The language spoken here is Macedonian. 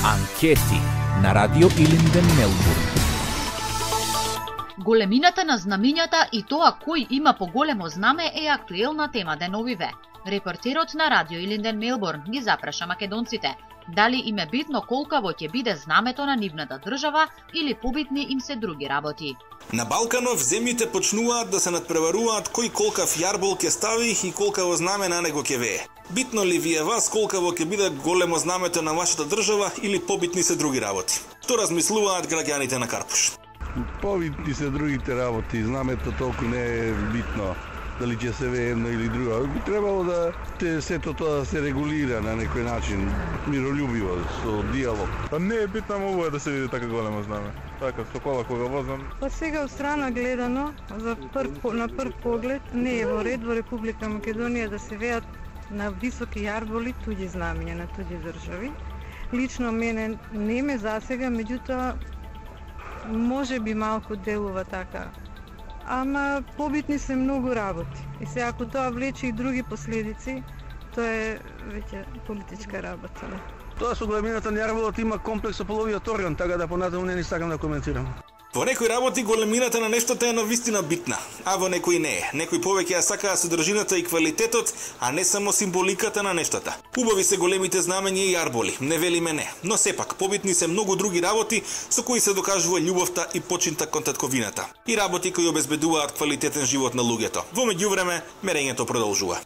Анкети на Радио Илинден, Мелбурн. Големината на знамењата и тоа кој има поголемо знаме е актуелна тема деновиве. Репортерот на Радио Илинден, Мелбурн ги запраша македонците дали им е битно колкаво ќе биде знамето на нивната држава или побитни им се други работи. На Балканов земјите почнуваат да се надпреваруваат кој колкав јарбол ќе стави и колкаво знаме на него ќе вее. Битно ли ви е вас колкаво ќе биде големо знамето на вашата држава или побитни се други работи? Што размислуваат граѓаните на Карпуш? Побитни се другите работи, знамето толку не е битно. Дали ќе се вее едно или друго. Би требало да сето тоа да се регулира на некој начин, миролюбиво, со диалог. Па не е битно, мобу е да се види така големо знаме. Така, со кола кога возам. Па сега од страна гледано, на прв поглед, не е во ред во Република Македонија да се веат на високи јарболи туѓи знамења на туѓи држави. Лично мене не ме засега, меѓутоа може би малку делува така. Ама побитни се многу работи. И се ако тоа влече и други последици, тоа е веќе политичка работа. Тоа со големината на јарболот има комплекс со половиот орган, така да понатаму не ни сакам да коментирам. Во некои работи големината на нештото е навистина битна, а во некои не е. Некои повеќе ја сакаат содржината и квалитетот, а не само символиката на нештата. Убави се големите знамења и јарболи, не велиме не, но сепак побитни се многу други работи со кои се докажува љубовта и починта кон татковината. И работи кои обезбедуваат квалитетен живот на луѓето. Во меѓувреме, мерењето продолжува.